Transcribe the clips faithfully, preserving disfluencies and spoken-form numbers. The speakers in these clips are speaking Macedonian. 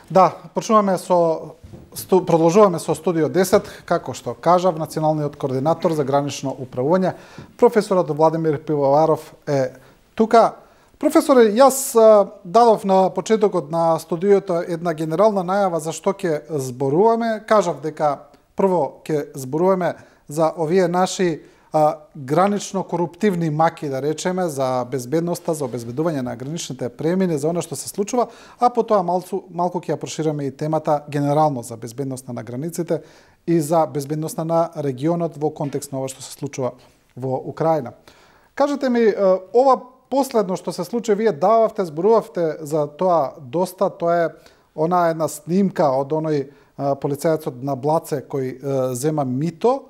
Да, почнуваме со сту, продолжуваме со студио десет, како што кажав, националниот координатор за гранично управување, професорот Владимир Пивоваров е тука. Професоре, јас дадов на почетокот на студиото една генерална најава за што ќе зборуваме. Кажав дека прво ќе зборуваме за овие наши а, гранично коруптивни маки, да речеме, за безбедноста, за обезбедување на граничните премини, за она што се случува, а потоа малку, малку ќе ја прошираме и темата генерално за безбедноста на границите и за безбедноста на регионот во контекст на ова што се случува во Украина. Кажете ми, ова последно што се случи, вие дававте, зборувавте за тоа доста, тоа е она една снимка од оној полицајецот на Блаце кој е, зема мито.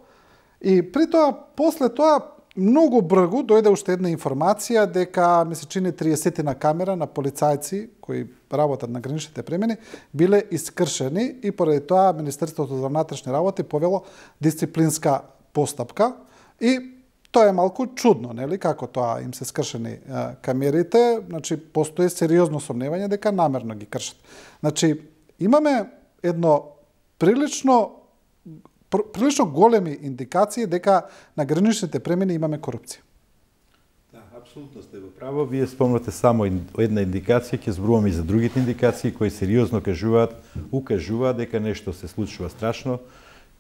И при тоа, после тоа, многу бргу дојде уште една информација дека, ми се чини, триесет на камера на полицајци кои работат на граничните премини биле искршени и поради тоа Министерството за внатрешни работи повело дисциплинска постапка. И тоа е малку чудно, нели, како тоа им се скршени а, камерите, значи постои сериозно сомневање дека намерно ги кршат. Значи имаме едно прилично прилично големи индикации дека на граничните премини имаме корупција. Да, апсолутно сте во право. Вие спомнате само една индикација, ќе зборуваме и за другите индикации кои сериозно кажуваат, укажуваат дека нешто се случува страшно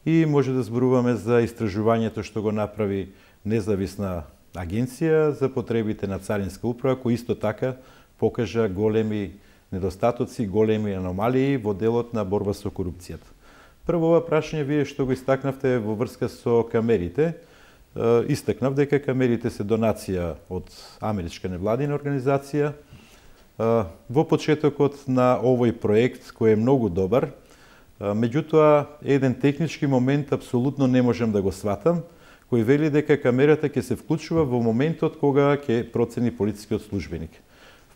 и може да зборуваме за истражувањето што го направи независна агенција за потребите на Царинска управа, кој исто така покажа големи недостатоци, големи аномалии во делот на борба со корупцијата. Прво ова прашање вие што го истакнавте во врска со камерите. Истакнав дека камерите се донација од америчка невладина организација. Во почетокот на овој проект кој е многу добар, меѓутоа еден технички момент апсолутно не можам да го сватам, кој вели дека камерата ќе се вклучува во моментот кога ќе процени полицискиот службеник.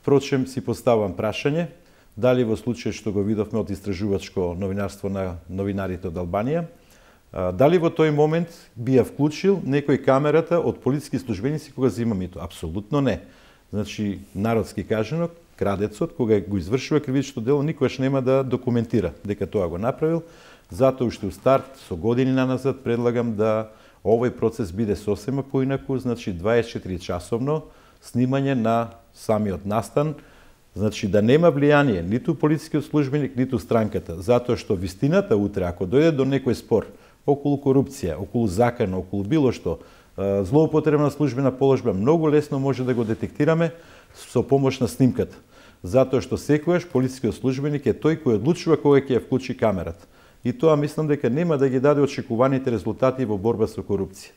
Впрочем, си поставам прашање, дали во случај што го видовме од истражувачко новинарство на новинарите од Албанија, дали во тој момент би ја вклучил некој камерата од полициски службеници кога зема мито? Апсолутно не. Значи, народски кажано, крадецот, кога го извршува кривично дело, никогаш нема да документира дека тоа го направил. Затоа уште у старт, со години наназад, предлагам да овој процес биде сосема поинаку, значи дваесет и четири часовно снимање на самиот настан, значи да нема влијание ниту полицискиот службеник, ниту странката, затоа што вистината утре, ако дојде до некој спор околу корупција, околу закана, околу било што, злоупотреба на службена положба, многу лесно може да го детектираме со помош на снимката. Затоа што секојаш полицискиот службеник е тој кој одлучува кога ќе ја вклучи камерата. И тоа мислам дека нема да ги даде очекуваните резултати во борба со корупција.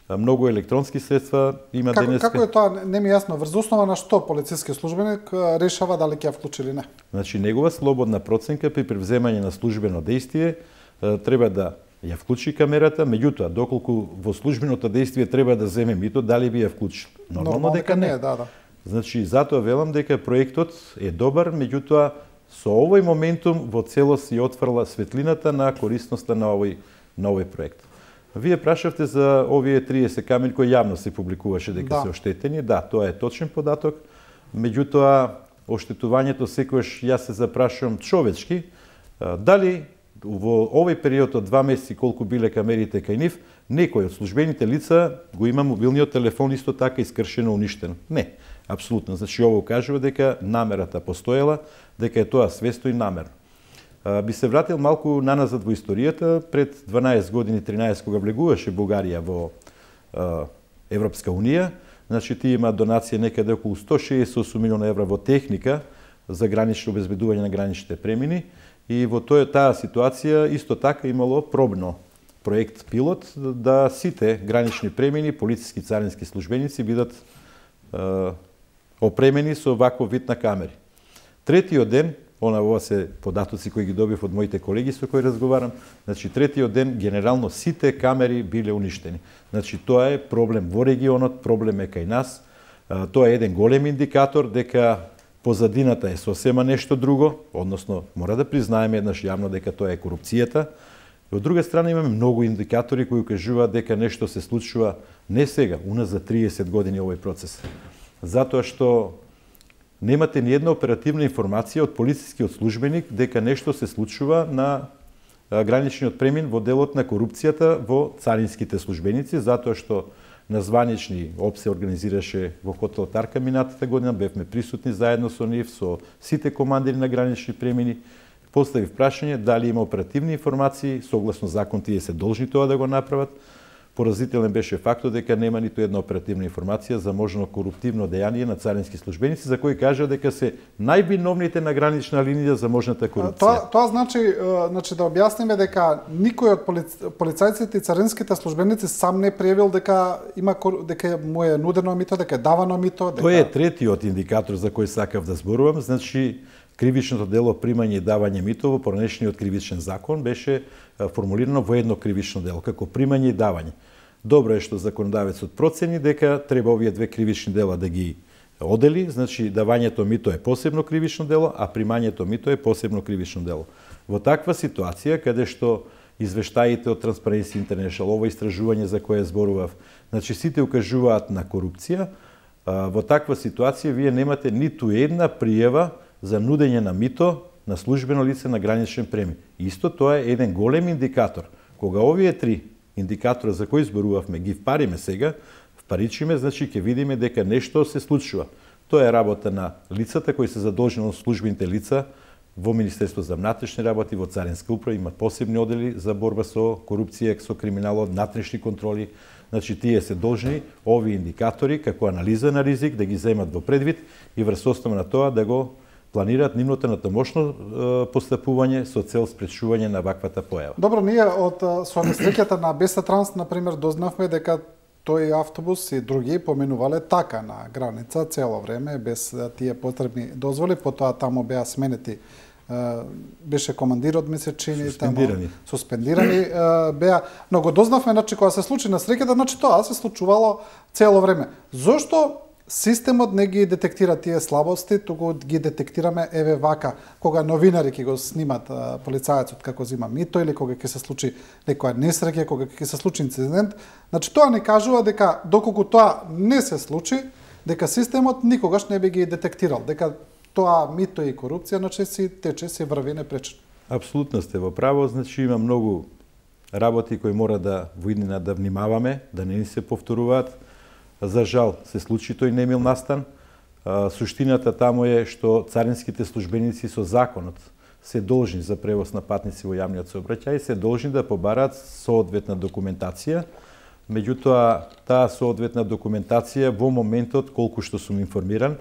Многу електронски средства има како, денеска. Како е тоа, не ми е јасно, врз основа на што полициски службеник решава дали ќе ја вклучи или не? Значи, негова слободна проценка при превземање на службено дејствие треба да ја вклучи камерата, меѓутоа, доколку во службеното дејствие треба да земе мито, дали би ја вклучил? Нормално, Нормално дека не. не да, да. Значи, затоа велам дека проектот е добар, меѓутоа, со овој моментум во целост си отврла светлината на корисноста на овој, на овој проект. Вие прашавте за овие триесет камери кои јавно се публикуваше дека да. се оштетени. Да, тоа е точен податок. Меѓутоа, оштетувањето секојаш јас се запрашувам човечки, дали во овој период од два месеци колку биле камерите кај нив, некој од службените лица го има мобилниот телефон исто така искршено уништен? Не, апсолутно. Значи, ово кажува дека намерата постоела, дека е тоа свесто и намерно. Би се вратил малку наназад во историјата, пред дванаесет години, тринаесет, кога влегуваше Бугарија во е, Европска Унија, значи ти има донација некаде околу сто шеесет и осум милиона евра во техника за гранично обезбедување на граничните премини и во тој, таа ситуација исто така имало пробно проект пилот да сите гранични премини, полициски царински службеници бидат е, опремени со ваков вид на камери. Третиот ден, она ова се податоци кои ги добив од моите колеги со кои разговарам, значи третиот ден генерално сите камери биле уништени. Значи тоа е проблем во регионот, проблем е кај нас. Тоа е еден голем индикатор дека позадината е сосема нешто друго, односно мора да признаеме еднаш јавно дека тоа е корупцијата. И од друга страна имаме многу индикатори кои кажуваат дека нешто се случува не сега, уназад триесет години овој процес. Затоа што немате ни една оперативна информација од полицискиот службеник дека нешто се случува на граничниот премин во делот на корупцијата во царинските службеници, затоа што на званични ОП се организираше во хотел Тарка минатата година, бевме присутни заедно со нив, со сите командири на гранични премини. Поставив прашање дали има оперативни информации, согласно закон тие се должни тоа да го направат. Поразителен беше фактот дека нема ниту една оперативна информација за можно коруптивно дејание на царински службеници, за кои кажа дека се највиновните на гранична линија за можната корупција. Тоа, тоа значи, значи да објасниме дека никој од полицајците и царинските службеници сам не пријавил дека има дека му е нудено мито, дека е давано мито, дека... Тоа е третиот индикатор за кој сакав да зборувам, значи кривичното дело примање и давање мито во поранешниот кривичен закон беше формулирано во едно кривично дело, како примање и давање. Добро е што законодавецот процени дека треба овие две кривични дела да ги одели, значи давањето мито е посебно кривично дело, а примањето мито е посебно кривично дело. Во таква ситуација, каде што извештаите од Transparency International, ова истражување за кое зборував, значи сите укажуваат на корупција, во таква ситуација вие немате ниту една пријава за нудење на мито на службено лице на граничен премин. Исто тоа е еден голем индикатор. Кога овие три индикатора за кои зборувавме ги впариме сега, впаричиме, значи ќе видиме дека нешто се случува. Тоа е работа на лицата кои се задолжени од службените лица во Министерство за внатрешни работи, во Царинска управа, имат посебни одели за борба со корупција, со криминалот, внатрешни контроли. Значи, тие се должни овие индикатори, како анализа на ризик, да ги земат во предвид и врз основа на тоа да го планираат нивното натамошно постапување со цел спречување на ваквата појава. Добро, ние од со несреќата на Беса Транс, например, дознавме дека тој автобус и други поминувале така на граница цело време без тие потребни дозволи, потоа таму беа сменети, беше командирот месечини, суспендирани, таму, суспендирани беа, но го дознавме, значи кога се случи несреќата, значи тоа се случувало цело време. Зошто системот не ги детектира тие слабости, туку ги детектираме еве вака, кога новинари ќе го снимат а, полицајецот како зима мито или кога ќе се случи некоја несреќа, кога ќе се случи инцидент. Значи тоа не кажува дека доколку тоа не се случи, дека системот никогаш не би ги детектирал, дека тоа мито и корупција значи си тече, си врви непречено. Апсолутно сте во право, значи има многу работи кои мора да во иднина да внимаваме, да не ни се повторуваат. За жал се случи тој немил настан. Суштината таму е што царинските службеници со законот се должни за превоз на патници во јавниот сообраќај, се должни да побараат соодветна документација. Меѓутоа, таа соодветна документација во моментот, колку што сум информиран,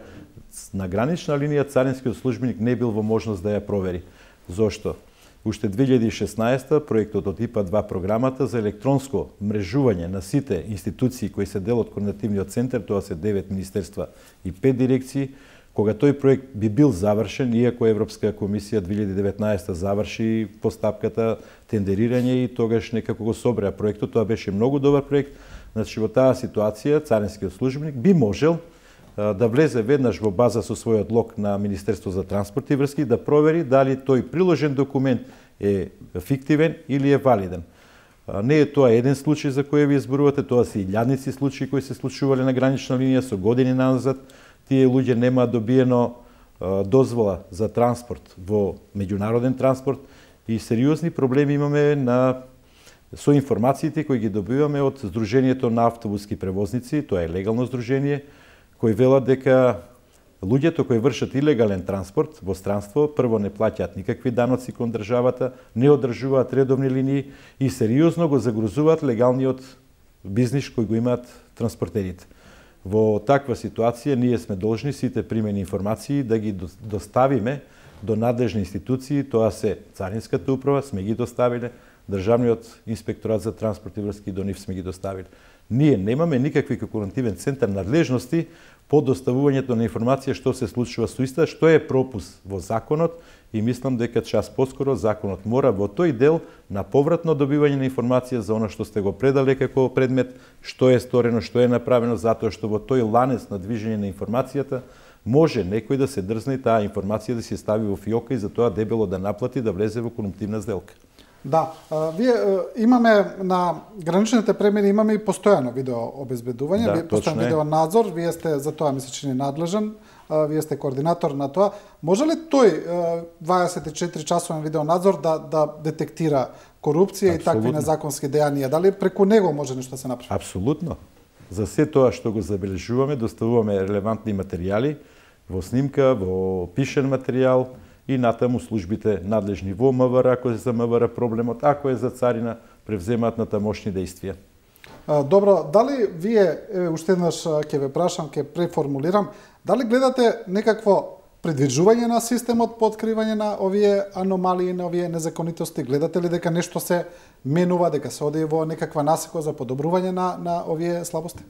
на гранична линија царинскиот службеник не бил во можност да ја провери. Зошто? Уште две илјади и шеснаесета проектот од ИПА два програмата за електронско мрежување на сите институции кои се дел од координативниот центар, тоа се девет министерства и пет дирекции, кога тој проект би бил завршен, иако Европска комисија две илјади и деветнаесета заврши постапката тендерирање и тогаш некако го собреа проектот, тоа беше многу добар проект. Значи во таа ситуација царинскиот службеник би можел да влезе веднаш во база со својот лог на Министерство за транспорт и врски да провери дали тој приложен документ е фиктивен или е валиден. Не е тоа еден случај за кој ви зборувате, тоа се илјадници случаи кои се случувале на гранична линија со години назад. Тие луѓе нема добиено дозвола за транспорт во меѓународен транспорт и сериозни проблеми имаме на со информациите кои ги добиваме од Сдруженијето на автобуски превозници, тоа е легално здружение, кои велат дека луѓето кои вршат илегален транспорт во странство прво не плаќаат никакви даноци кон државата, не одржуваат редовни линии и сериозно го загрозуваат легалниот бизнис кој го имаат транспортерите. Во таква ситуација ние сме должни сите примени информации да ги доставиме до надлежни институции, тоа се Царинската управа, сме ги доставиле, Државниот инспекторат за транспорт и врски до нив сме ги доставиле. Ние немаме никакви како координативен центар надлежности по доставувањето на информација што се случува со иста, што е пропуст во законот и мислам дека час поскоро законот мора во тој дел на повратно добивање на информација за она што сте го предале како предмет, што е сторено, што е направено, затоа што во тој ланец на движење на информацијата може некој да се дрзне и таа информација да се стави во фиока и за тоа дебело да наплати да влезе во корумптивна сделка. Да, вие имаме на граничните премини имаме и постојано видео обезбедување, да, постојан видео надзор, вие сте за тоа ми се чини надлежен вие сте координатор на тоа. Може ли тој дваесет и четири часовен видеонадзор да да детектира корупција и такви незаконски дејанија? Дали преку него може нешто да се направи? Апсолутно. За се тоа што го забележуваме, доставуваме релевантни материјали во снимка, во пишен материјал и натаму службите надлежни во МВР, ако е за МВР проблемот, ако е за царина, превземаат натамошни действија. Добро, дали вие, еве уште еднаш ќе ве прашам, ќе преформулирам, дали гледате некакво предвижување на системот по откривање на овие аномалии, на овие незаконитости? Гледате ли дека нешто се менува, дека се оди во некаква насека за подобрување на на овие слабости?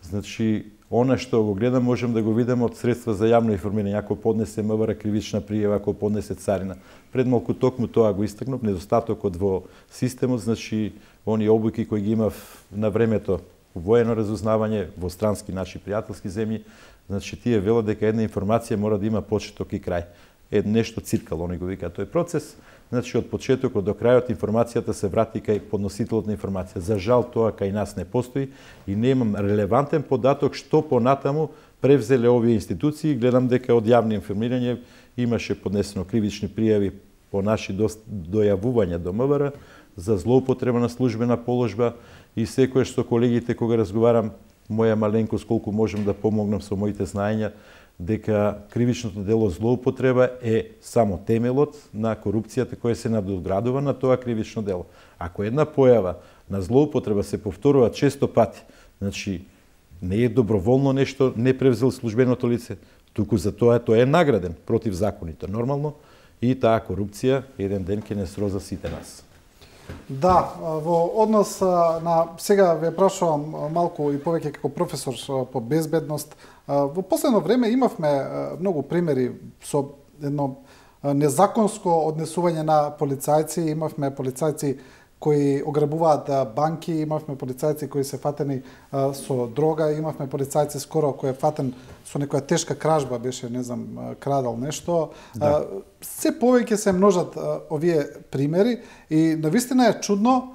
Значи, она што го гледам можем да го видиме од средства за јавно информирање, ако поднесе МВР кривична пријава, ако поднесе царина. Пред малку токму тоа го истакнав, недостатокот во системот, значи оние обуки кои ги имав на времето воено разузнавање во странски наши пријателски земји, значи тие велат дека една информација мора да има почеток и крај. Е нешто циркал, они го вика тој процес. Значи од почетокот до крајот информацијата се врати кај подносителот на информација. За жал тоа кај нас не постои и немам релевантен податок што понатаму превзеле овие институции. Гледам дека од јавно информирање имаше поднесено кривични пријави по наши дојавувања до МВР за злоупотреба на службена положба и секојаш со колегите кога разговарам моја маленкост колку можем да помогнам со моите знаења дека кривичното дело злоупотреба е само темелот на корупцијата која се надоградува на тоа кривично дело. Ако една појава на злоупотреба се повторува често пати, значи не е доброволно нешто, не превзел службеното лице, туку за тоа тој е награден противзаконито, нормално, и таа корупција еден ден ќе не сроза сите нас. Да, во однос на сега ве прашувам малку и повеќе како професор по безбедност. Во последно време имавме многу примери со едно незаконско однесување на полицајци, имавме полицајци кои ограбуваат банки, имавме полицајци кои се фатени со дрога, имавме полицајци скоро кој е фатен со некоја тешка кражба, беше, не знам, крадал нешто. Да. Се повеќе се множат овие примери и навистина е чудно,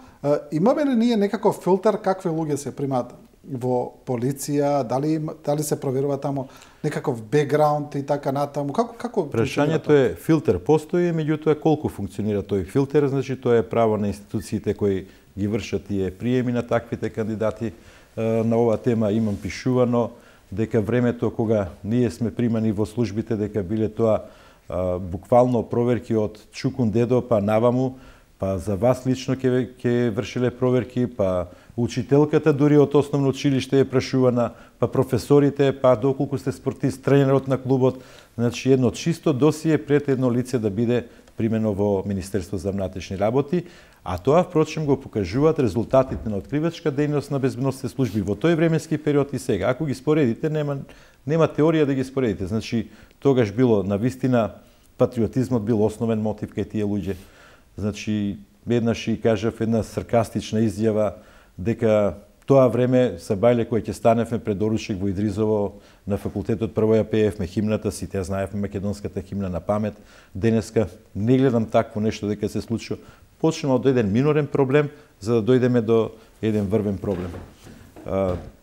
имаме ли ние некаков филтер какви луѓе се примаат во полиција, дали дали се проверува таму некаков бекграунд и така натаму, како како прашањето е филтер постои, меѓутоа колку функционира тој филтер, значи тоа е право на институциите кои ги вршат тие приеми на таквите кандидати. На оваа тема имам пишувано дека времето кога ние сме примани во службите дека биле тоа буквално проверки од чукун дедо па наваму, па за вас лично ќе ќе вршиле проверки, па учителката дури од основно училиште е прашувана, па професорите, па доколку сте спортист, тренерот на клубот, значи едно чисто досие пред едно лице да биде примено во Министерство за внатрешни работи, а тоа впрочем го покажуваат резултатите на откривачка дејност на безбедносните служби во тој временски период и сега. Ако ги споредите, нема нема теорија да ги споредите. Значи тогаш било навистина патриотизмот бил основен мотив кај тие луѓе. Значи еднаш и кажав една саркастична изјава дека тоа време са бајле кој ќе станевме пред доручик во Идризово на факултетот, прво ја пеевме химната, сите знаевме македонската химна на памет. Денеска не гледам такво нешто дека се случува. Почнемо од еден минорен проблем за да дојдеме до еден врвен проблем.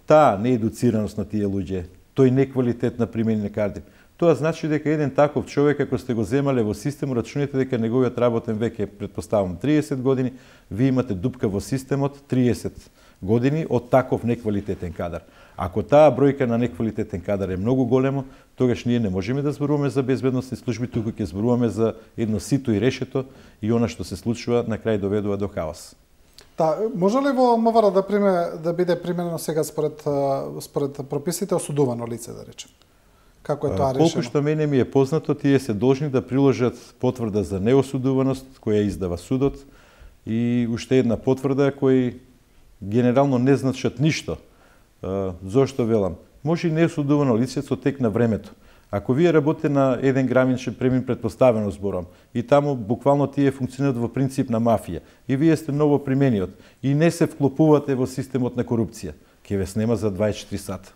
Таа неедуцираност на тие луѓе, тој неквалитет на примени на карти, тоа значи дека еден таков човек, ако сте го земале во системот, рачунете дека неговиот работен век е, предпоставам, триесет години, вие имате дупка во системот триесет години од таков неквалитетен кадар. Ако таа бројка на неквалитетен кадар е многу големо, тогаш ние не можеме да зборуваме за безбедносни служби, туку ќе зборуваме за едно сито и решето и она што се случува на крај доведува до хаос. Да, може ли во МВР да приме да биде применено сега според според прописите осудувано лице, да речем? Како е тоа решено? Колку што мене ми е познато, тие се должни да приложат потврда за неосудуваност која издава судот и уште една потврда кој генерално не значат ништо. Зошто велам? Може и неосудувано лице со тек на времето. Ако вие работите на еден граничен премин, предпоставено зборам, и таму буквално тие функционираат во принцип на мафија, и вие сте ново примениот, и не се вклопувате во системот на корупција, ќе ве снема за дваесет и четири сата.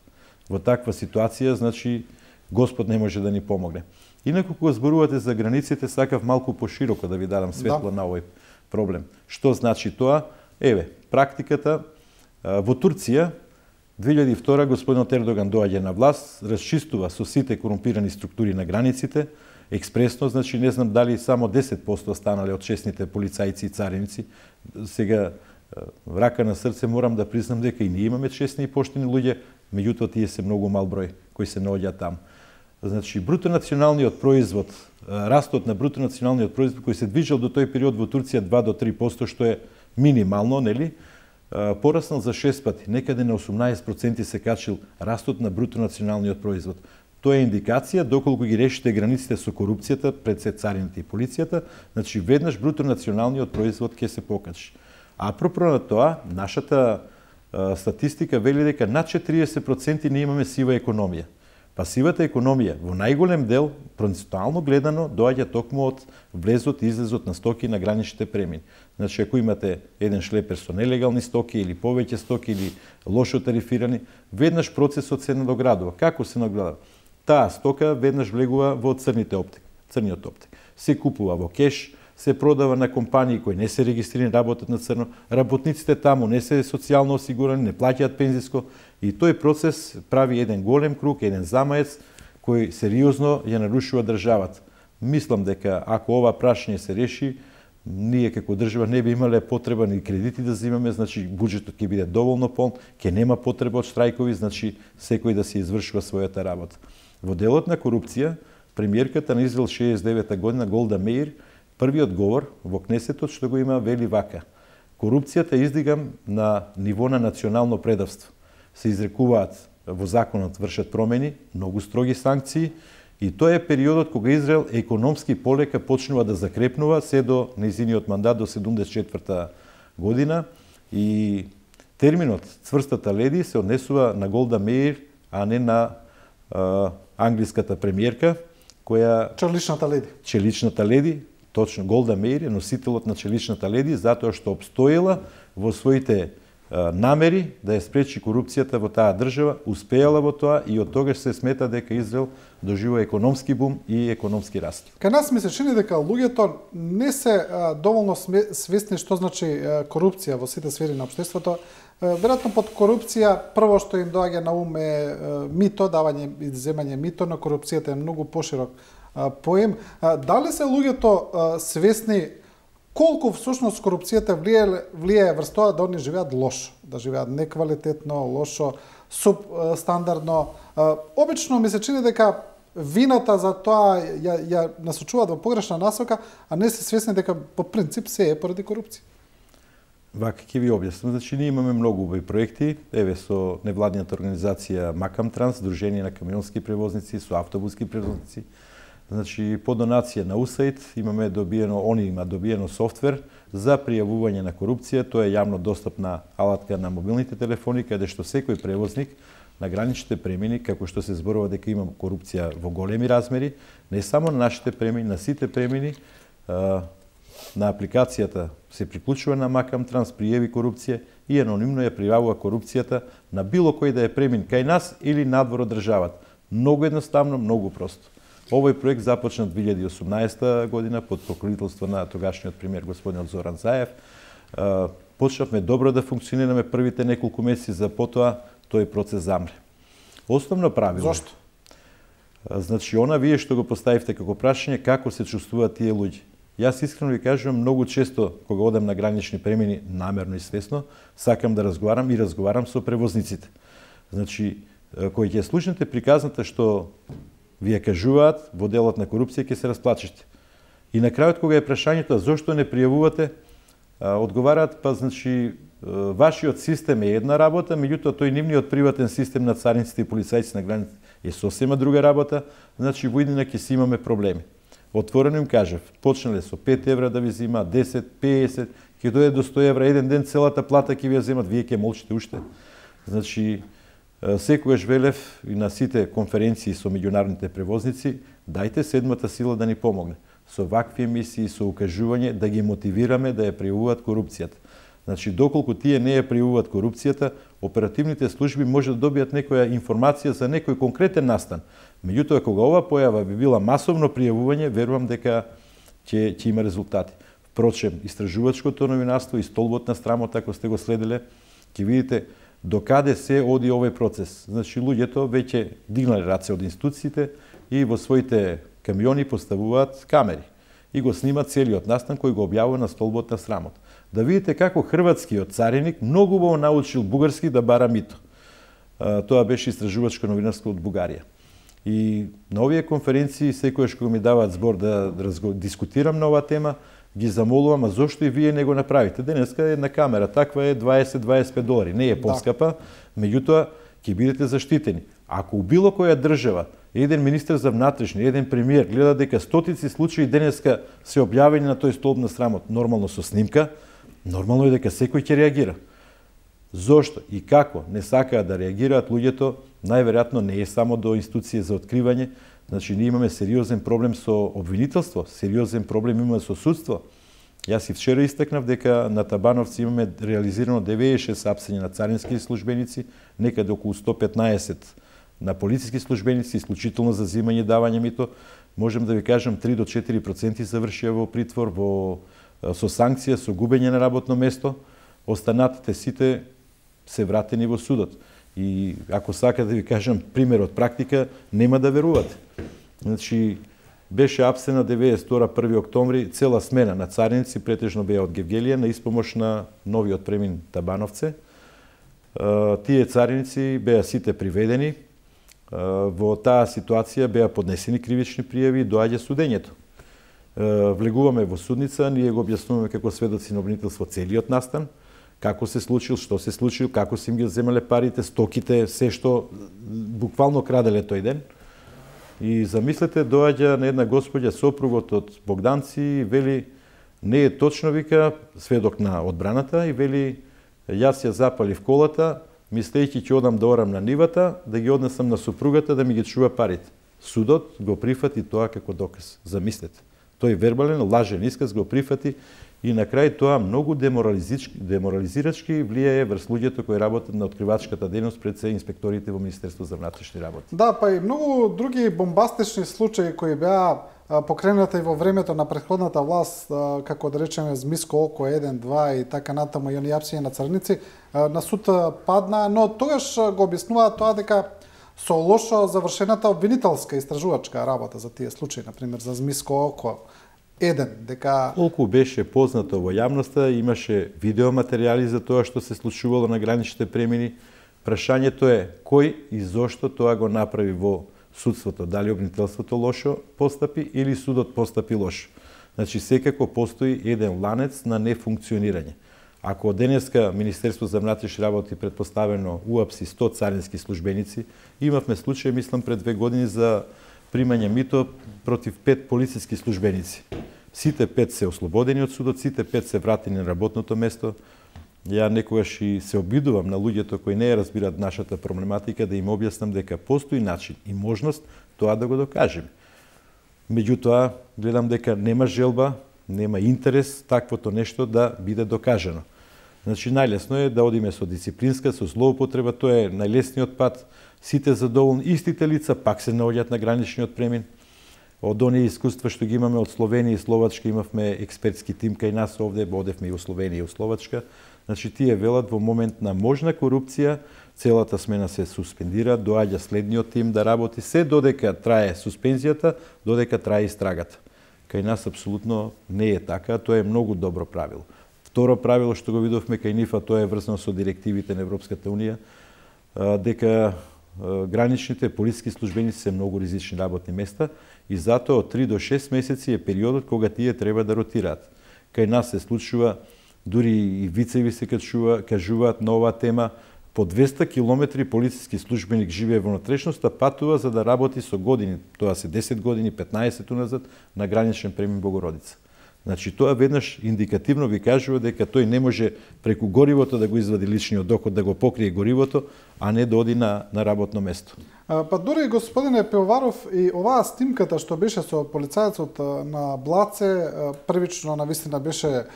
Во таква ситуација, значи, Господ не може да ни помогне. Инаку, кога зборувате за границите, сакав малку пошироко да ви дадам светло да. на овој проблем. Што значи тоа? Еве, практиката во Турција две илјади и втора господинот Ердоган доаѓа на власт, расчистува со сите корумпирани структури на границите, експресно, значи не знам дали само десет проценти останале од честните полицајци и цариници. Сега, рака на срце, морам да признам дека и ние имаме честни и поштени луѓе, меѓутоа тие се многу мал број кои се наоѓаат таму. Значи, бруто националниот производ, растот на бруто националниот производ кој се движел до тој период во Турција два до три проценти, што е минимално, нели? Пораснал за шест пати, некаде на осумнаесет проценти се качил растот на бруто националниот производ. Тоа е индикација доколку ги решите границите со корупцијата пред се царините и полицијата, значи веднаш бруто националниот производ ќе се покачи. А апропо на тоа, нашата а, статистика вели дека над четириесет проценти не имаме сива економија. Па сивата економија во најголем дел, процентуално гледано, доаѓа токму од влезот и излезот на стоки на граничните премини. Значи, ако имате еден шлепер со нелегални стоки или повеќе стоки или лошо тарифирани, веднаш процесот се надоградува. Како се надоградува? Таа стока веднаш влегува во црните оптик, црниот оптик. Се купува во кеш, се продава на компании кои не се регистрирани, работат на црно, работниците таму не се социјално осигурани, не плаќаат пензиско и тој процес прави еден голем круг, еден замаец кој сериозно ја нарушува државата. Мислам дека ако ова прашање се реши, ние како држава не би имале потреба ни кредити да земаме, значи буџетот ќе биде доволно полн, ќе нема потреба од штрајкови, значи секој да се извршува својата работа. Во делот на корупција, премиерката на Израел шеесет и девета година Голда Меир, првиот говор во Кнесетот што го има вели вака: корупцијата издигам на ниво на национално предавство. Се изрекуваат во законот, вршат промени, многу строги санкции и тоа е периодот кога Израел економски полека почнува да закрепнува се до нејзиниот мандат до седумдесет и четврта година и терминот цврстата леди се однесува на Голда Меир, а не на а, англиската премиерка која Челичната леди. Челичната леди, точно Голда Меир е носителот на челичната леди затоа што обстоила во своите намери да ја спречи корупцијата во таа држава, успеала во тоа и од тогаш се смета дека Израел доживува економски бум и економски раст. Кај нас ми се чини дека луѓето не се а, доволно свесни што значи а, корупција во сите сфери на општеството. Веројатно под корупција прво што им доаѓа на ум е а, мито, давање и земање мито, но корупцијата е многу поширок а, поем. А, дали се луѓето а, свесни колку всушност корупцијата влие, влие врз тоа да они живеат лошо, да живеат неквалитетно, лошо, субстандардно. Обично ми се чини дека вината за тоа ја, ја насочуваат во погрешна насока, а не се свесни дека по принцип се е поради корупција. Вака ќе ви објаснам. Значи, ние имаме многу убави проекти, еве со невладината организација Макам Транс, Дружение на камионски превозници, со автобуски превозници. Значи, по донација на УСАИД имаме добиено, они има добиено софтвер за пријавување на корупција. Тоа е јавно достапна алатка на мобилните телефони, каде што секој превозник на граничните премини, како што се зборува дека има корупција во големи размери, не само на нашите премини, на сите премини, на апликацијата се приклучува на Макам Транс, пријави корупција и анонимно ја пријавува корупцијата на било кој да е премин кај нас или надвор од државата. Многу едноставно, многу просто. Овој проект започна две илјади и осумнаесета година под покровителство на тогашниот премиер господинот Зоран Заев. Почнавме добро да функционираме првите неколку месеци, за потоа тој процес замре. Основно правило. Зошто? Значи, она вие што го поставивте како прашање, како се чувствуваат тие луѓе. Јас искрено ви кажувам, многу често кога одам на гранични премини, намерно и свесно, сакам да разговарам и разговарам со превозниците. Значи, кои ќе слушнете приказната што вие кажуваат во делот на корупција ќе се расплачете. И на крајот кога е прашањето зошто не пријавувате, одговараат па значи вашиот систем е една работа, меѓутоа тој нивниот приватен систем на цариниците и полицајците на границите е сосема друга работа, значи во иднина ќе си имаме проблеми. Отворено им кажав, почнале со пет евра да ви зема, десет, песет, ќе дојде до сто евра, еден ден целата плата ќе ви ја земат, вие ќе молчите уште. Значи, секогаш велев и на сите конференции со меѓународните превозници, дајте седмата сила да ни помогне. Со вакви емисии, со укажување, да ги мотивираме да ја пријавуваат корупцијата. Значи, доколку тие не ја пријавуваат корупцијата, оперативните служби може да добијат некоја информација за некој конкретен настан. Меѓутоа, кога ова појава би била масовно пријавување, верувам дека ќе, ќе има резултати. Впрочем, истражувачкото новинарство и столбот на страмот, ако сте го следеле, ќе видите до каде се оди овој процес. Значи, луѓето веќе дигнале раце од институциите и во своите камиони поставуваат камери и го снимат целиот настан кој го објавува на столбот на срамот. Да видите како хрватскиот цариник многу убаво научил бугарски да бара мито. Тоа беше истражувачко новинарство од Бугарија. И на овие конференции, секојаш кога ми даваат збор да дискутирам на оваа тема, ги замолувам, а зошто и вие не го направите? Денеска една камера таква е дваесет до дваесет и пет долари, не е поскапа, меѓутоа ќе бидете заштитени. Ако у било која држава еден министер за внатрешни, еден премиер гледа дека стотици случаи денеска се објавени на тој столб на срамот, нормално со снимка, нормално е дека секој ќе реагира. Зошто и како не сакаат да реагираат луѓето, најверојатно не е само до институција за откривање. Значи, ние имаме сериозен проблем со обвинителство, сериозен проблем имаме со судство. Јас и вчера истакнав дека на Табановци имаме реализирано деветдесет и шест апсења на царински службеници, некаде околу сто петнаесет на полициски службеници, исклучително за земање и давање мито. Можем да ви кажам три до четири проценти завршија во притвор, во, со санкција, со губење на работно место. Останатите сите се вратени во судот. И ако сака да ви кажам пример од практика, нема да верувате. Значи, беше апсена деветдесет и втора први октомври, цела смена на цариници, претежно беа од Гевгелија, на испомош на новиот премин Табановце. Тие цариници беа сите приведени. Во таа ситуација беа поднесени кривични пријави и доаѓа судењето. Влегуваме во судница, ние го објаснуваме како сведоци на обвинителство целиот настан, како се случил, што се случил, како се им ги земале парите, стоките, се што буквално краделе тој ден. И замислете, доаѓа на една господја сопругот од Богданци и вели, не е точно, вика, сведок на одбраната, и вели, јас ја запалив колата, мислејќи ќе одам да орам на нивата, да ги однесам на супругата да ми ги чува парите. Судот го прифати тоа како доказ. Замислете. Тој вербален, лажен исказ го прифати и на крај тоа многу деморализирачки влијае врз луѓето кои работат на откривачката дејност пред се инспекторите во Министерство за внатрешни работи. Да, па и многу други бомбастични случаи кои беа покренати во времето на претходната власт, како да речеме Змиско око еден, два и така натаму и оние апсења на црници, на суд падна, но тогаш го објаснуваат тоа дека со лошо завршената обвинителска истражувачка работа за тие случаи, например за Змиско око еден, дека... Колку беше познато во јавноста, имаше видеоматеријали за тоа што се случувало на граничните премини. Прашањето е кој и зошто тоа го направи во судството. Дали обвинителството лошо постапи или судот постапи лошо. Значи, секако постои еден ланец на нефункционирање. Ако денеска Министерство за внатрешни работи предпоставено уапси сто царински службеници, имавме случај, мислам, пред две години за примање мито против пет полициски службеници. Сите пет се ослободени од судот, сите пет се вратени на работното место. Ја некогаш и се обидувам на луѓето кои не ја разбират нашата проблематика да им објаснам дека постои начин и можност тоа да го докажеме. Меѓутоа, гледам дека нема желба, нема интерес таквото нешто да биде докажано. Значи, најлесно е да одиме со дисциплинска, со злоупотреба, тоа е најлесниот пат. Сите задоволни, истите лица пак се наоѓаат на граничниот премин. Од оние искуства што ги имаме од Словенија и Словачка, имавме експертски тим кај нас овде, одевме и у Словенија и у Словачка. Значи, тие велат во момент на можна корупција, целата смена се суспендира, доаѓа следниот тим да работи, се додека трае суспензијата, додека трае истрагата. Кај нас апсолутно не е така, тоа е многу добро правило. Второ правило што го видовме кај нив, а тоа е врзано со директивите на Европската унија, дека граничните полициски службеници се многу ризични работни места и затоа од три до шест месеци е периодот кога тие треба да ротираат. Кај нас се случува, дури и вицеви се кажува, кажуваат на оваа тема, по двеста километри полициски службеник живее во внатрешноста, патува за да работи со години, тоа се десет години, петнаесет уназад, на граничен премин Богородица. Значи, тоа веднаш индикативно ви кажува дека тој не може преку горивото да го извади личниот доход, да го покрие горивото, а не да оди на, на работно место. А, па дури, господине Пивоваров, и оваа снимката што беше со полицајецот на Блаце, првично навистина беше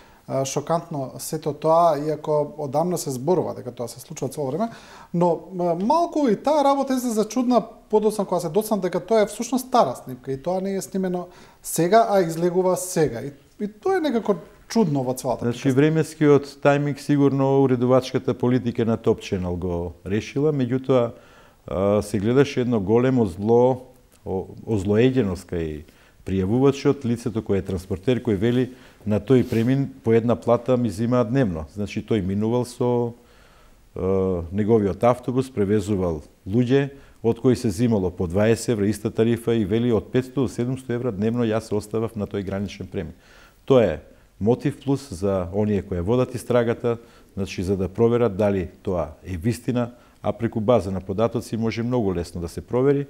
шокантно сето тоа, иако одамна се зборува дека тоа се случува цело време, но малку и таа работа излезе чудна подоцна кога се доцна дека тоа е всушност стара снимка и тоа не е снимено сега, а излегува сега. И, и тоа е некако чудно во целата. Значи временскиот тајминг сигурно уредувачката политика на Топ Ченел го решила, меѓутоа се гледаше едно големо зло, озлоеденост кај пријавувачот, лицето кој е транспортер, кој вели на тој премин по една плата ми зимаат дневно. Значи тој минувал со е, неговиот автобус, превезувал луѓе, од кои се зимало по дваесет евра, иста тарифа, и вели од петстотини до седумстотини евра дневно јас се оставав на тој граничен премин. Тоа е мотив плюс за оние кои водат истрагата, значи за да проверат дали тоа е вистина, а преку база на податоци може многу лесно да се провери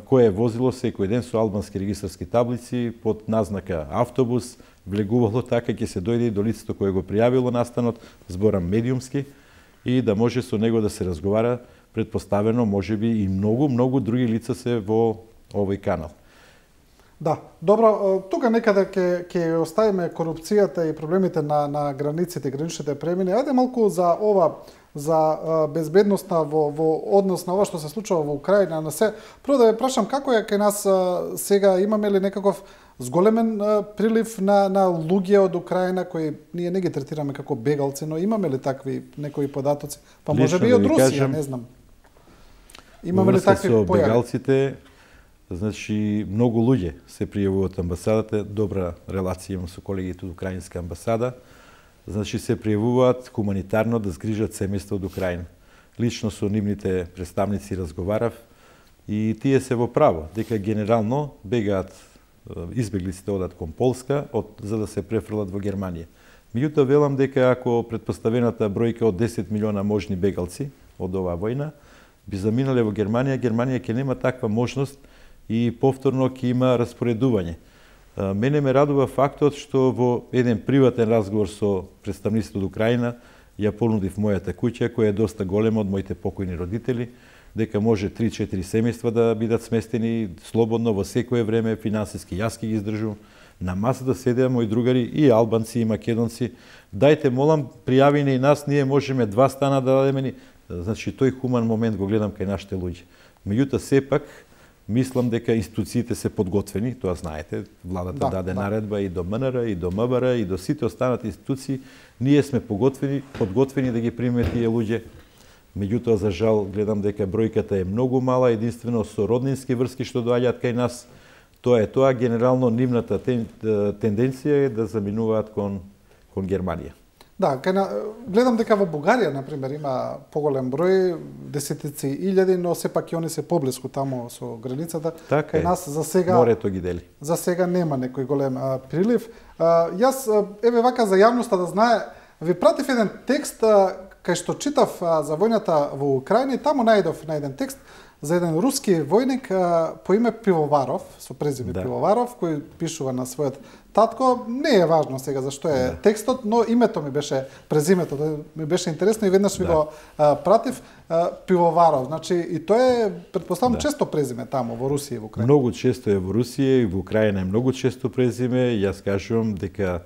кое е возило секој ден со албански регистарски таблици под назнака автобус, влегувало така ќе се дојде до лицето кое го пријавило настанот, зборам медиумски, и да може со него да се разговара, предпоставено можеби и многу, многу други лица се во овој канал. Да, добро, тука некаде ќе ќе оставиме корупцијата и проблемите на на границите, граничните премини. Ајде малку за ова, за безбедноста во во однос на ова што се случува во Украина, на се. Прво да ве прашам како е кај нас сега, имаме ли некаков зголемен прилив на на луѓе од Украина кои ние не ги третираме како бегалци, но имаме ли такви некои податоци? Па можеби и од Русија, кажем, не знам. Имаме ли такви појави? Бегалците, значи многу луѓе се пријавуваат амбасадата, добра релација имам со колегите од украинска амбасада. Значи се пријавуваат хуманитарно да згрижат семејства од Украина. Лично со нивните представници разговарав и тие се во право дека генерално бегаат избеглиците одат кон Полска од, за да се префрлат во Германија. Меѓутоа велам дека ако предпоставената бројка од десет милиона можни бегалци од оваа војна би заминале во Германија, Германија ќе нема таква можност и повторно ќе има распоредување. Мене ме радува фактот што во еден приватен разговор со представниците од Украина ја понудив мојата куќа, која е доста голема од моите покојни родители, дека може три-четири семејства да бидат сместени слободно во секое време, финансиски јас ќе ги издржувам. На масата седеа мои другари и албанци и македонци. Дајте, молам, пријавине и нас, ние можеме два стана да дадеме ни. Значи, тој хуман момент го гледам кај нашите луѓе. Меѓутоа, сепак, мислам дека институциите се подготвени, тоа знаете, владата да, даде да. наредба и до М Н Р, и до М Б Р, и до сите останати институции, ние сме подготвени, подготвени да ги примеме тие луѓе. Меѓутоа, за жал, гледам дека бројката е многу мала, единствено со роднински врски што доаѓаат кај нас. Тоа е тоа, генерално нивната тен, тенденција е да заминуваат кон, кон Германија. Да, кај на, гледам дека во Бугарија, например, има поголем број, десетици илјади, но сепак и они се поблиску тамо со границата. Така кај е. нас за сега морето ги дели. За сега нема некој голем а, прилив. А, јас еве вака за јавноста да знае, ви пратив еден текст а, кај што читав а, за војната во Украина, и таму најдов на еден текст за еден руски војник а, по име Пивоваров, со презиме да. Пивоваров, кој пишува на својот татко. Не е важно сега зашто е да. текстот, но името ми беше, презимето ми беше интересно и веднаш ви да. го а, пратив. А, Пивоваров, значи и тоа е, предпоставам, да. често презиме таму во Русија и во Украина. Многу често е во Русија и во Украина е многу често презиме. Јас кажувам дека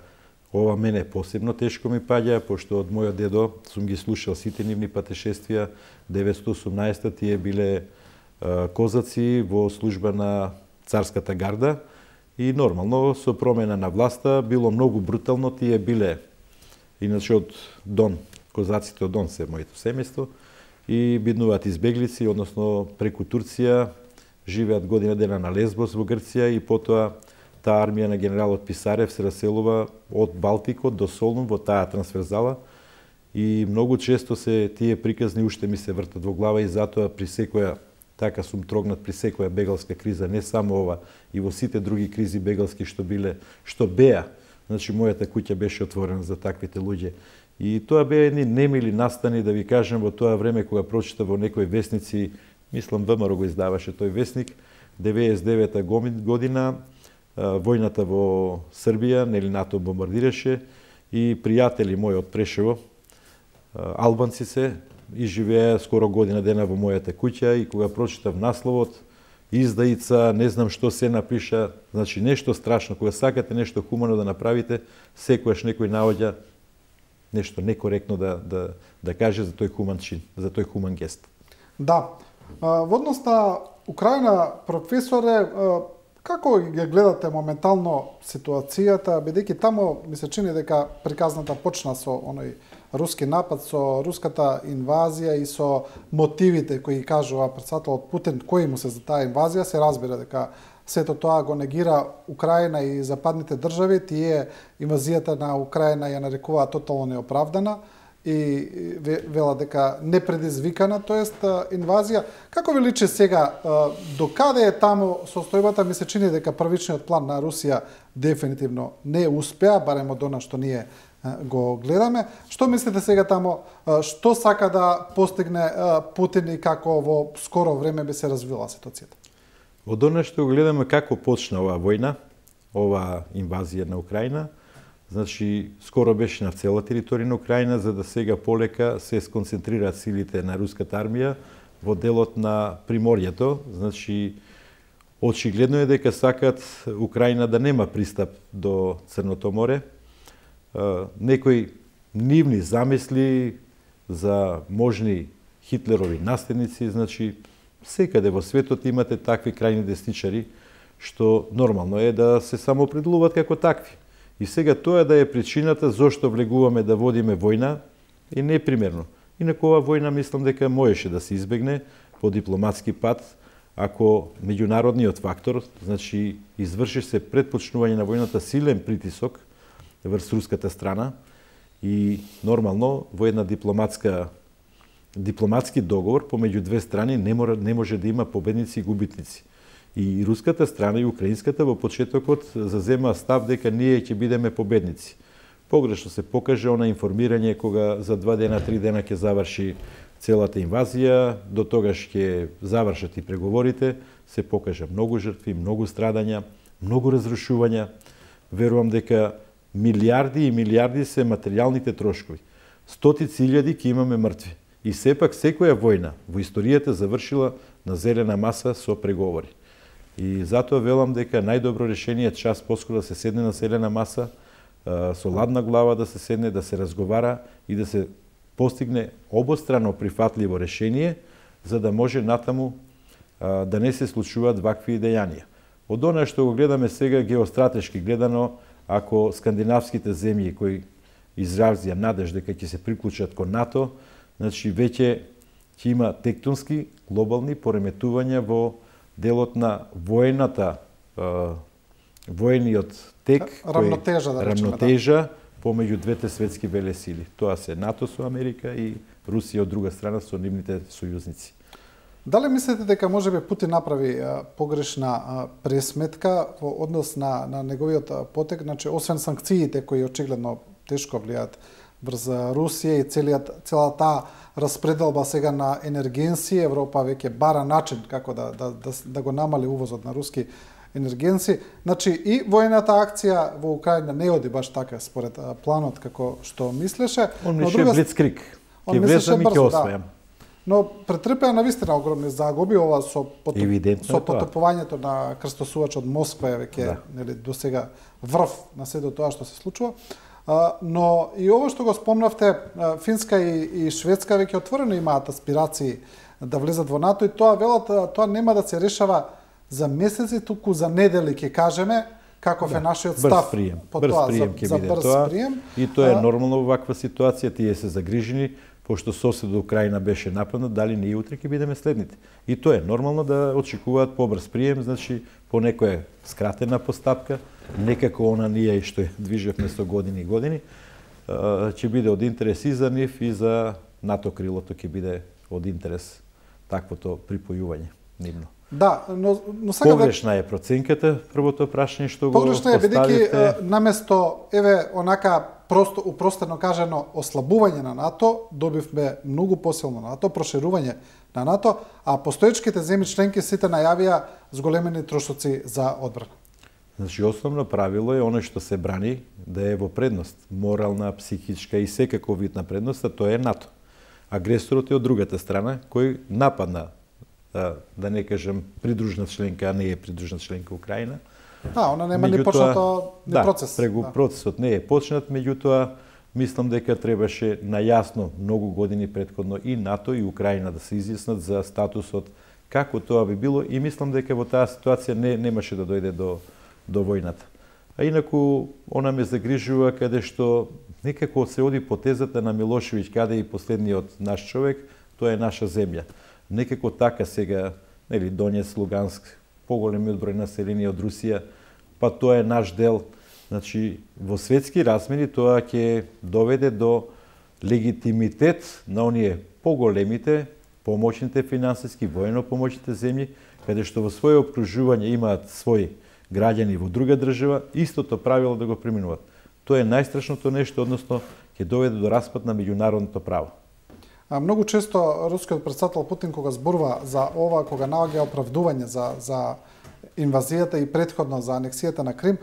ова мене посебно тешко ми паѓа, пошто од мојот дедо сум ги слушал сите нивни патешествија. деветстотини и осумнаесета тие биле а, козаци во служба на царската гарда и нормално со промена на власта било многу брутално. Тие биле иначе од Дон, козаците од Дон се моето семејство и биднуваат избеглици, односно преку Турција, живеат година дена на Лесбос во Грција и потоа таа армија на генералот Писарев се раселува од Балтикот до Солун во таа трансферзала и многу често се тие приказни уште ми се вртат во глава и затоа при секоја, така сум трогнат при секоја бегалска криза, не само ова, и во сите други кризи бегалски што биле, што беа. Значи мојата куќа беше отворена за таквите луѓе. И тоа беа едни немили настани, да ви кажем, во тоа време кога прочита во некои весници, мислам Вэ М Р го издаваше тој весник, деветдесет и девета година, војната во Србија, нели НАТО бомбардираше и пријатели мои од Прешево, албанци се, и живеа скоро година дена во мојата куќа и кога прочитав насловот, издаица, не знам што се напиша, значи нешто страшно, кога сакате нешто хумано да направите, секојаш некој наоѓа нешто некоректно да, да, да каже за тој хуман чин, за тој хуман гест. Да. Во однос на Украина, професоре, Како ги гледате моментално ситуацијата, бидејќи тамо ми се чини дека приказната почна со оној руски напад, со руската инвазија и со мотивите кои кажува претседателот Путин, кои му се за таа инвазија, се разбира дека сето тоа го негира Украина и западните држави, тие инвазијата на Украина ја нарекуваат тотално неоправдана и вела дека непредизвикана, тоест инвазија. Како ви личи сега, до каде е таму состојбата? Ми се чини дека првичниот план на Русија дефинитивно не успеа, барем од она што ние го гледаме. Што мислите сега тамо, што сака да постигне Путин и како во скоро време би се развила ситуацијата? Од она што гледаме како почна оваа војна, оваа инвазија на Украина, значи скоро беше на цела територија на Украина, за да сега полека се сконцентрираат силите на руската армија во делот на приморието. Значи очигледно е дека сакат Украина да нема пристап до Црното море. Некои нивни замисли за можни Хитлерови наследници, значи секаде во светот имате такви крајни десничари што нормално е да се самоопределуваат како такви. И сега тоа да е причината зошто влегуваме да водиме војна е непримерно. Инаку оваа војна мислам дека можеше да се избегне по дипломатски пат, ако меѓународниот фактор, значи изврши се пред почнување на војната силен притисок врз руската страна и нормално во една дипломатска дипломатски договор помеѓу две страни не, мора, не може да има победници и губитници. И руската страна и украинската во почетокот зазема став дека ние ќе бидеме победници. Погрешно се покаже она информирање кога за два дена, три дена ќе заврши целата инвазија, до тогаш ќе завршат и преговорите, се покажа многу жртви, многу страдања, многу разрушувања. Верувам дека милиарди и милиарди се материјалните трошкови. Стотици илјади ќе имаме мртви. И сепак секоја војна во историјата завршила на зелена маса со преговори. И затоа велам дека најдобро решение е час поскоро да се седне на зелена маса, со ладна глава да се седне, да се разговара и да се постигне обострано прифатливо решение, за да може натаму да не се случуваат вакви дејанија. Од она што го гледаме сега геостратешки гледано, ако скандинавските земји кои изразија надеж дека ќе се приклучат кон НАТО, значи веќе ќе има тектонски глобални пореметувања во делот на војната, војниот тек, рамнотежа, да речеме, рамнотежа помеѓу двете светски велесили. Тоа се НАТО со Америка и Русија од друга страна со нивните сојузници. Дали мислите дека можеби Путин направи а, погрешна а, пресметка во однос на, на неговиот потек, значи освен санкциите кои очигледно тешко влијаат врз Русија и целиот целата распределба сега на енергенси, Европа веќе бара начин како да да да, да го намали увозот на руски енергенси. Значи и војната акција во Украина не оди баш така според планот како што мислеше. Он мислеше друга... блицкриг. Ќе влезам и ќе освојам. Да. Но претрпеа навистина огромни загуби, ова со потоп... со потопувањето на крстосувачот Москва е веќе да. Нели до сега врв на сето тоа што се случува. А, но и ово што го спомнавте, Финска и, и Шведска веќе отворено имаат аспирации да влезат во НАТО и тоа велат, тоа нема да се решава за месеци, туку за недели ќе кажеме каков да, е нашиот став прием. по брз тоа прием за, за биде брз тоа. прием. И тоа е нормално во ваква ситуација, тие се загрижени пошто соседот Украина беше нападнат, дали ние утре ќе бидеме следните. И тоа е нормално да очекуваат побрз прием, значи по некоја скратена постапка, некако она ние што е движевме со години и години, ќе биде од интерес и за нив и за НАТО крилото ќе биде од интерес таквото припојување нивно. Да, но, но сега погрешна е проценката, првото прашање што го погрешна е поставивте. Бидејќи наместо еве онака просто упростено кажано ослабување на НАТО, добивме многу посилно НАТО, проширување на НАТО, а постоечките земји членки сите најавија зголемени трошоци за одбрана. Значи основно правило е оно што се брани да е во предност, морална, психичка и секако вид на предност, а тоа е НАТО. Агресорот е од другата страна кој нападна, да не кажем придружна членка, а не е придружна членка Украина. А, она нема ни почнато ни да, процес. Прегу да, процесот не е почнат, меѓутоа мислам дека требаше најасно многу години претходно и НАТО и Украина да се изјаснат за статусот како тоа би било и мислам дека во таа ситуација не немаше да дојде до до војната. А инаку она ме загрижува каде што некако се оди потезата на Милошевиќ каде и последниот наш човек, тоа е наша земја. Некако така сега, нели, Донец, Луганск, поголемиот број население од Русија, па тоа е наш дел. Значи, во светски размери тоа ќе доведе до легитимитет на оние поголемите, помоćните финансиски, воено помоćните земји, каде што во своје обкружување имаат своји граѓани во друга држава, истото правило да го преминуваат. Тоа е најстрашното нешто, односно ќе доведе до распад на меѓународното право. А, многу често рускиот претседател Путин кога зборува за ова, кога наоѓа оправдување за за инвазијата и претходно за анексијата на Крим,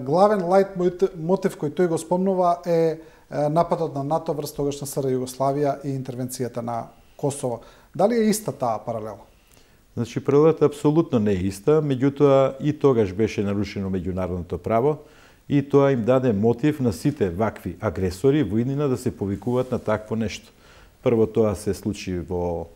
главен лајт мотив кој тој го спомнува е нападот на НАТО врз тогашна СР Југославија и интервенцијата на Косово. Дали е иста таа паралела? Значи, паралелата апсолутно не е иста, меѓутоа и тогаш беше нарушено меѓународното право и тоа им даде мотив на сите вакви агресори во иднина да се повикуваат на такво нешто. Прво тоа се случи во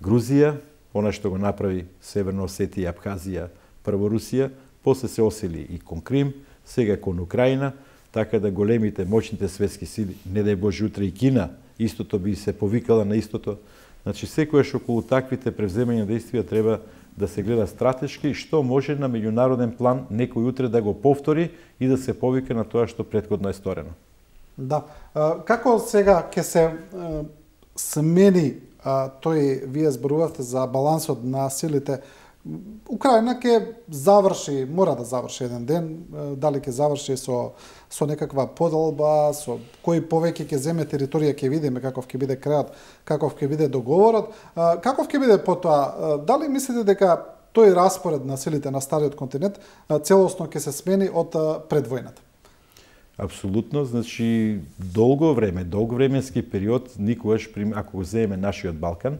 Грузија, она што го направи Северна Осетија и Абхазија, прво Русија, после се осели и кон Крим, сега кон Украина, така да големите, моćните светски сили, не дај Боже утре и Кина, истото би се повикала на истото. Значи, секојаш околу таквите превземања действија треба да се гледа стратешки, што може на меѓународен план некој утре да го повтори и да се повика на тоа што претходно е сторено. Да. Како сега ќе се смени тој, вие зборувавте за балансот на силите, Украина ќе заврши, мора да заврши еден ден, дали ќе заврши со со некаква поделба, со кој повеќе ќе земе територија, ќе видиме каков ќе биде крајот, каков ќе биде договорот, каков ќе биде потоа. Дали мислите дека тој распоред на силите на стариот континент целосно ќе се смени од пред војната? Апсолутно, значи долго време, долго временски период, никогаш, ако го земеме нашиот Балкан,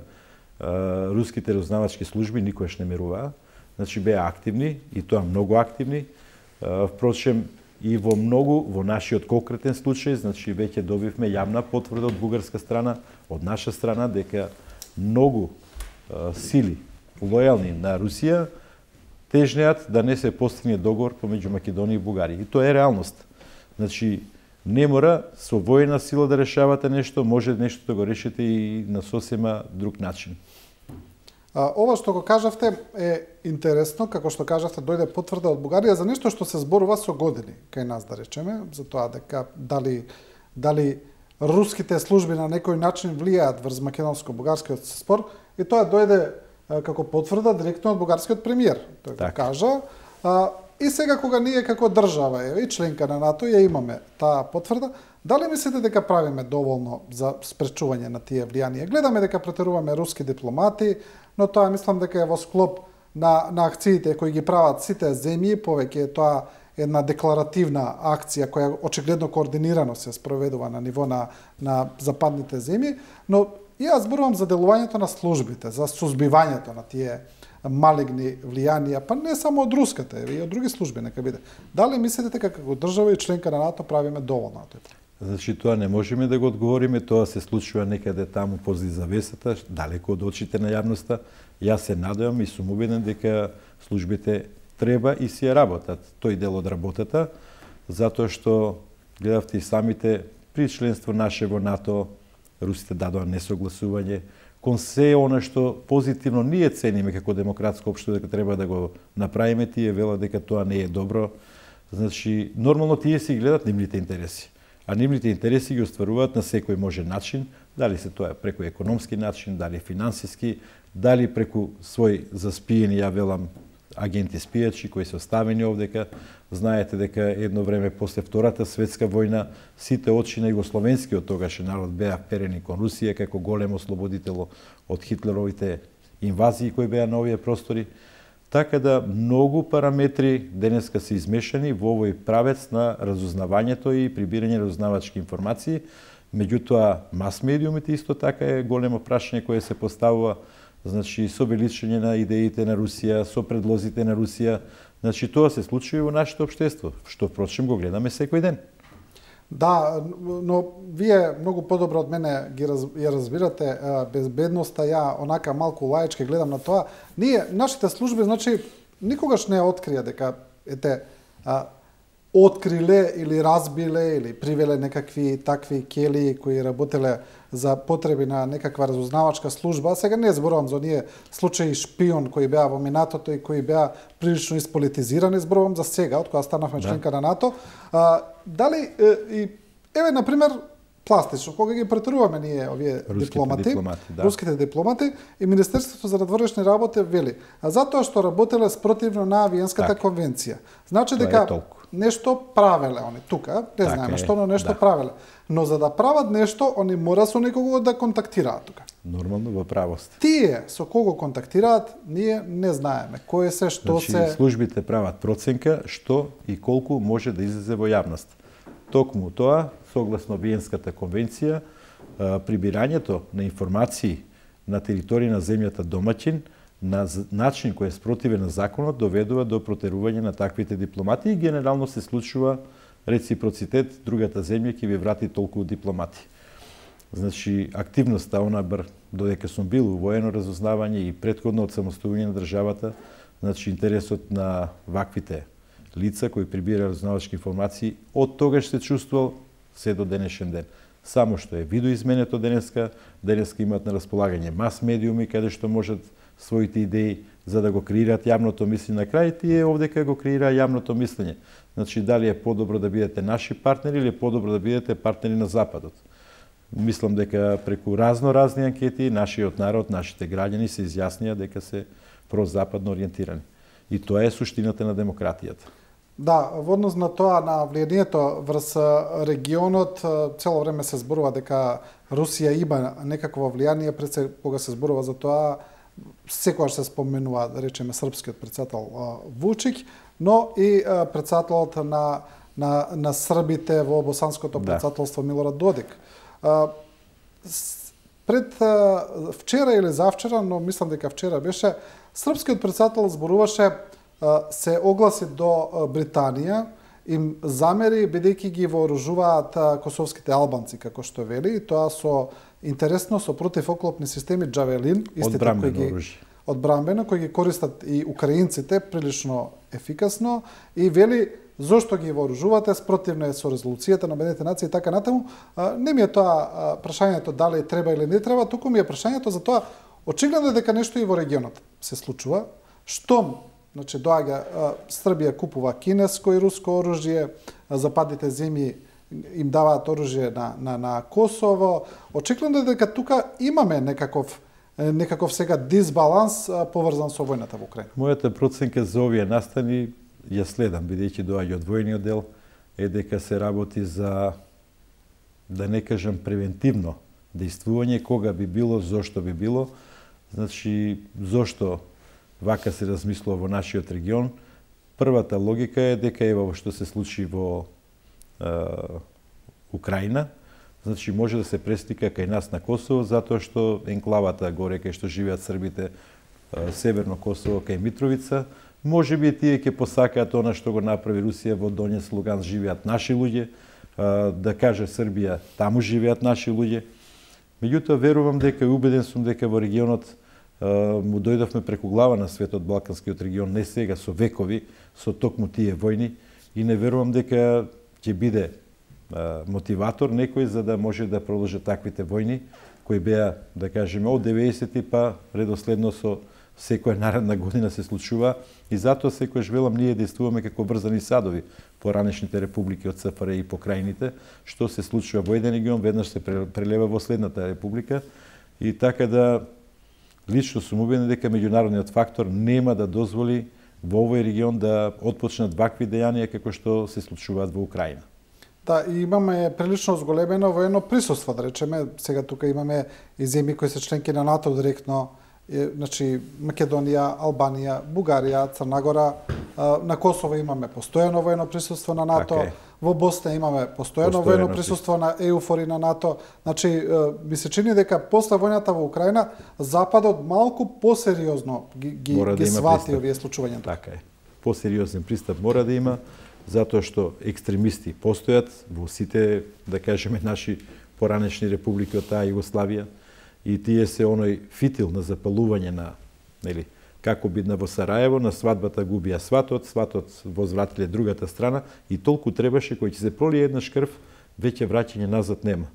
руските разузнавачки служби никогаш не меруваа, значи беа активни и тоа многу активни. Впрочем, и во многу, во нашиот конкретен случај, значи веќе добивме јавна потврда од бугарска страна, од наша страна, дека многу сили лојални на Русија тежнеат да не се постигне договор помеѓу Македонија и Бугарија. И тоа е реалност. Значи, не мора со војна сила да решавате нешто, може нешто да го решите и на сосема друг начин. А, ова што го кажавте е интересно, како што кажавте, дојде потврда од Бугарија за нешто што се зборува со години кај нас, да речеме, за тоа дека дали дали руските служби на некој начин влијаат врз македонско-бугарскиот спор, и тоа дојде а, како потврда директно од бугарскиот премиер. Тој го кажа. А, и сега кога ние како држава е и членка на НАТО ја имаме таа потврда, дали мислите дека правиме доволно за спречување на тие влијанија? Гледаме дека претеруваме руски дипломати, но тоа мислам дека е во склоп на, на акциите кои ги прават сите земји, повеќе е тоа една декларативна акција која очигледно координирано се спроведува на ниво на, на западните земји, но јас зборувам за делувањето на службите, за сузбивањето на тие малигни влијанија, па не само од руската, и од други служби нека биде. Дали мислите дека како држава и членка на НАТО правиме доволно на тоа? Значи, тоа не можеме да го одговориме, тоа се случува некаде таму позади завесата, далеко од очите на јавноста. Јас се надевам и сум убеден дека службите треба и си ја работат тој дел од работата, затоа што гледавте и самите при членство наше во НАТО, русите дадоа несогласување, кон се она што позитивно ние цениме како демократско општество дека треба да го направиме, тие велат дека тоа не е добро. Значи, нормално тие си гледат нивните интереси. А нивните интереси ги остваруваат на секој може начин, дали се тоа преку економски начин, дали финансиски, дали преку свој заспиени, ја велам, агенти спијачи кои се оставени овдека. Знаете дека едно време после Втората светска војна сите очи на југословенскиот тогаш народ беа вперени кон Русија како голем ослободител од Хитлеровите инвазии кои беа на овие простори. Така да многу параметри денеска се измешани во овој правец на разузнавањето и прибирање разузнавачки информации. Меѓутоа, мас-медиумите исто така е големо прашање кое се поставува, значи со величање на идеите на Русија, со предлозите на Русија. Значи тоа се случува во нашето општество, што впрочем го гледаме секој ден. Да, но вие многу подобро од мене ги раз, ја разбирате безбедноста, ја онака малку лаички гледам на тоа. Ние, нашите служби, значи, никогаш не открија дека, ете, а, откриле или разбиле или привеле некакви такви кели кои работеле за потреби на некаква разузнавачка служба. А сега не зборувам за оние случаи шпион кои беа во минатото и кои беа прилично исполитизирани, зборувам за сега, од кога станавме членка на НАТО. А, дали и еве на пример пластично, кога ги претеруваме ние овие руските дипломати, дипломати да. руските дипломати и Министерството за надворешни работи вели, а затоа што работеле спротивно на Виенската так. конвенција. Значи тоа дека нешто правеле они тука, не так знаеме е, што, но нешто да. правеле. Но за да прават нешто, они мора со некого да контактираат тука. Нормално во правост. Тие со кого контактираат, ние не знаеме кој се, што значи, се. Службите прават проценка што и колку може да излезе во јавност. Токму тоа, согласно Виенската конвенција, прибирањето на информации на територија на земјата домаќин на начин кој е спротивен на законот доведува до протерување на таквите дипломати и генерално се случува реципроцитет, другата земја ќе ви врати толку дипломати. Значи, активноста, она бар, додека сум бил у воено разузнавање и претходно од самостојување на државата, значи интересот на ваквите лица кои прибира разузнавачки информации, од тогаш се чувствувал се до денешен ден. Само што е видоизменето денеска, денеска имаат на располагање мас медиуми каде што можат своите идеи за да го креираат јавното мислење. На крај тие овдека го креира јавното мислење. Значи, дали е подобро да бидете наши партнери или е подобро да бидете партнери на Западот. Мислам дека преку разно-разни анкети нашиот народ, нашите граѓани се изјаснија дека се прозападно ориентирани. И тоа е суштината на демократијата. Да, во однос на тоа, на влијанието врз регионот, цело време се зборува дека Русија има некакво влијание, пред се кога се зборува за тоа, секогаш се споменува, да речеме, српскиот председател Вучик, но и председателот на, на, на србите во босанското председателство Милорад Додик. Пред вчера или завчера, но мислам дека вчера беше, српскиот председател зборуваше, се огласи до Британија, им замери бидејќи ги вооружуваат косовските албанци, како што вели, и тоа со интересно со противоклопни системи Джавелин, истите кои ги одбрамбено, кои ги користат и украинците прилично ефикасно, и вели зошто ги вооружувате, спротивно е со резолуцијата на Обединетите нации и така натаму. Не ми е тоа прашањето дали треба или не треба, туку ми е прашањето за тоа, очигледно е дека нешто и во регионот се случува, штом значи доаѓа Србија купува кинеско и руско оружје, западните земји им даваат оружје на, на, на Косово. Очигледно е дека тука имаме некаков, некаков сега дисбаланс поврзан со војната во Украина. Мојата проценка за овие настани ја следам, бидејќи доаѓа од војниот дел, е дека се работи за, да не кажам превентивно дејствување, кога би било, зошто би било. Значи, зошто вака се размислува во нашиот регион? Првата логика е дека ева што се случи во е, Украина, значи може да се преслика кај нас на Косово, затоа што енклавата горе кај што живеат србите, е, северно Косово кај Митровица, може би тие ќе посакаат она што го направи Русија во Донец Луган, живеат наши луѓе, е, да каже Србија, таму живеат наши луѓе. Меѓутоа верувам дека и убеден сум дека во регионот му дојдовме преку глава на светот Балканскиот регион, не сега, со векови, со токму тие војни, и не верувам дека ќе биде а, мотиватор некој за да може да продолжи таквите војни, кои беа, да кажеме, од деветдесети па редоследно со секоја наредна година се случува, и затоа секојаш велам ние действуваме како врзани садови по ранешните републики од ЦФР и покрајните, што се случува во еден регион, веднаш се прелева во следната република, и така да лично сум убеден дека меѓународниот фактор нема да дозволи во овој регион да отпочнат вакви дејанија како што се случуваат во Украина. Да, и имаме прилично зголемено воено присуство, да речеме. Сега тука имаме и земји кои се членки на НАТО директно, значи Македонија, Албанија, Бугарија, Црна Гора. На Косово имаме постојано воено присуство на НАТО. Okay. Во Босна имаме постојано воено присуство на ЕУФОР и на НАТО. Значи, ми се чини дека после војната во Украина, Западот малку посериозно ги, ги, ги да свати овие случувања. Така е. Посериозен пристап мора да има, затоа што екстремисти постојат во сите, да кажеме, наши поранешни републики од таа Југославија и тие се оној фитил на запалување на, нели, како бидна во Сараево, на свадбата губија сватот, сватот возвратиле другата страна и толку требаше кој ќе се пролие еднаш крв, веќе враќање назад нема.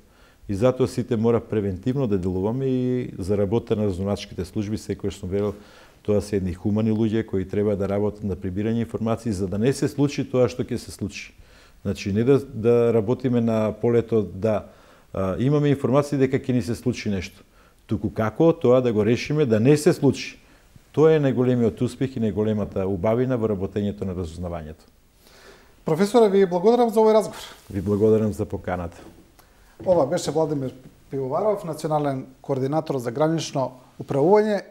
И затоа сите мора превентивно да делуваме и за работа на разузнавачките служби, секојаш сум верил, тоа се едни хумани луѓе кои треба да работат на прибирање информации за да не се случи тоа што ќе се случи. Значи не да, да работиме на полето да а, имаме информации дека ќе ни се случи нешто, туку како тоа да го решиме да не се случи. Тоа е најголемиот успех и најголемата убавина во работењето на разузнавањето. Професоре, ви благодарам за овој разговор. Ви благодарам за поканата. Ова беше Владимир Пивоваров, национален координатор за гранично управување.